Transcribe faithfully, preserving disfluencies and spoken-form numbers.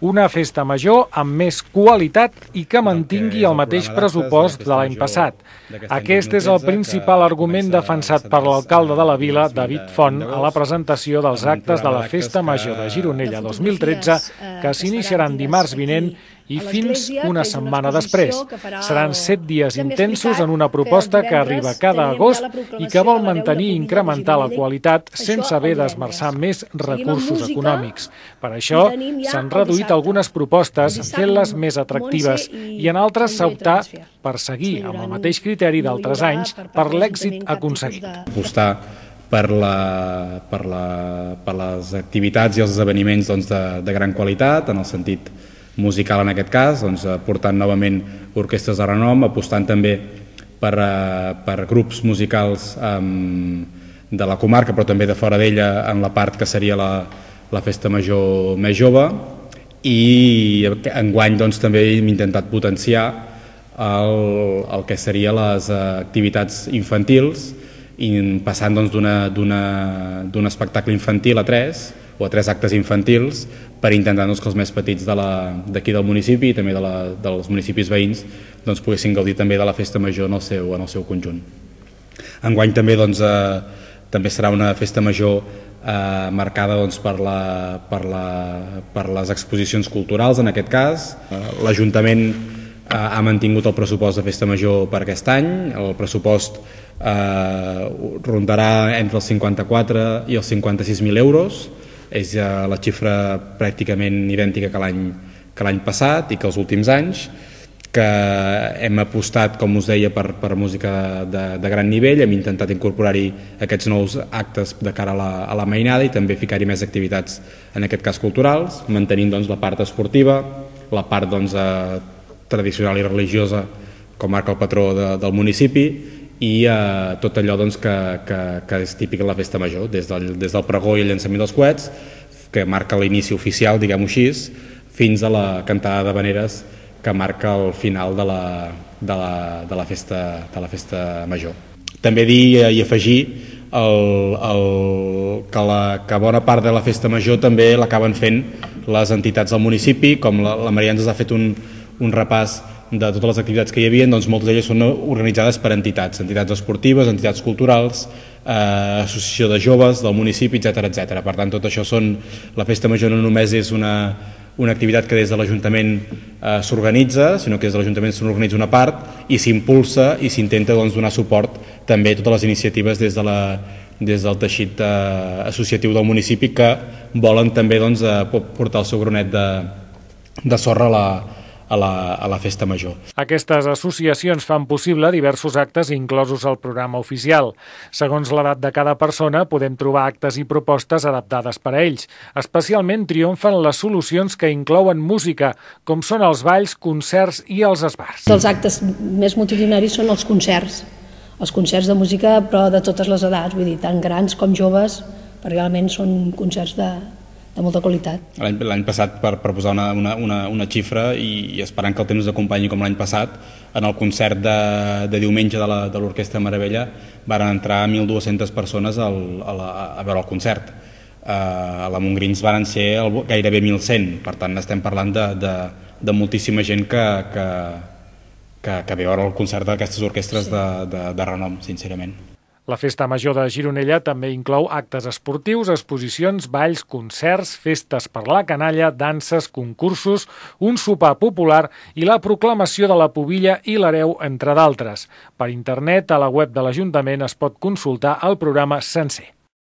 Una festa major amb més qualitat i que mantingui el mateix pressupost de l'any passat. Aquest és el principal argument defensat per l'alcalde de la vila, David Font, a la presentació dels actes de la Festa Major de Gironella dos mil tretze, que s'iniciaran dimarts vinent i fins una setmana després. Seran set dies intensos en una proposta que arriba cada agost i que vol mantenir i incrementar la qualitat sense haver d'esmerçar més recursos econòmics. Per això s'han reduït algunes propostes fent-les més atractives i en altres s'ha optat per seguir amb el mateix criteri d'altres anys per l'èxit aconseguit. Apostar per, la, per, la, per les activitats i els esdeveniments doncs, de, de gran qualitat, en el sentit musical en aquest cas, doncs, portant novament orquestres de renom, apostant també per, per grups musicals um, de la comarca, però també de fora d'ella en la part que seria la, la festa major més jove, i enguany doncs, també hem intentat potenciar el, el que serien les activitats infantils, i passant doncs, d'un espectacle infantil a tres, o a tres actes infantils, per intentar doncs, que els més petits d'aquí de del municipi i també de la, dels municipis veïns doncs, poguessin gaudir també de la festa major en el seu, en el seu conjunt. Enguany també, doncs, eh, també serà una festa major eh, marcada doncs, per, la, per, la, per les exposicions culturals, en aquest cas. Eh, L'Ajuntament eh, ha mantingut el pressupost de festa major per aquest any. El pressupost eh, rondarà entre els cinquanta-quatre i els cinquanta-sis mil euros. És la xifra pràcticament idèntica que l'any que l'any passat i que els últims anys, que hem apostat, com us deia, per, per música de, de gran nivell, hem intentat incorporar-hi aquests nous actes de cara a la, a la mainada i també ficar-hi més activitats, en aquest cas culturals, mantenint doncs, la part esportiva, la part doncs, eh, tradicional i religiosa, com marca el patró de, del municipi, i eh, tot allò doncs, que, que, que és típic de la festa major, des del, des del pregó i el llançament dels coets, que marca l'inici oficial, diguem-ho així, fins a la cantada d'havaneres que marca el final de la, de la, de la, festa, de la festa major. També dir i afegir el, el, que, la, que bona part de la festa major també l'acaben fent les entitats del municipi, com la, la Maria ens ha fet un, un repàs de totes les activitats que hi havia, doncs moltes d'elles són organitzades per entitats, entitats esportives, entitats culturals, eh, associació de joves del municipi, etcètera, etcètera. Per tant, tot això són... La festa major no només és una, una activitat que des de l'Ajuntament eh, s'organitza, sinó que des de l'Ajuntament s'organitza una part i s'impulsa i s'intenta doncs, donar suport també a totes les iniciatives des, de la, des del teixit eh, associatiu del municipi que volen també doncs, eh, portar el seu granet de, de sorra a la A la, a la festa major. Aquestes associacions fan possible diversos actes inclosos al programa oficial. Segons l'edat de cada persona, podem trobar actes i propostes adaptades per a ells. Especialment triomfen les solucions que inclouen música, com són els balls, concerts i els esbars. Els actes més multitudinaris són els concerts, els concerts de música, però de totes les edats, vull dir, tant grans com joves, perquè realment són concerts de... de molta qualitat. L'any passat, per, per posar una, una, una, una xifra i, i esperant que el temps acompanyi com l'any passat, en el concert de, de diumenge de l'Orquestra Meravella van entrar mil dues-centes persones al, a, la, a veure el concert. Uh, a la Montgrins van ser el, gairebé mil cent, per tant estem parlant de, de, de moltíssima gent que, que, que, que ve a veure el concert d'aquestes orquestres de, de, de renom, sincerament. La Festa Major de Gironella també inclou actes esportius, exposicions, balls, concerts, festes per la canalla, danses, concursos, un sopar popular i la proclamació de la pubilla i l'hereu, entre d'altres. Per internet, a la web de l'Ajuntament es pot consultar el programa sencer.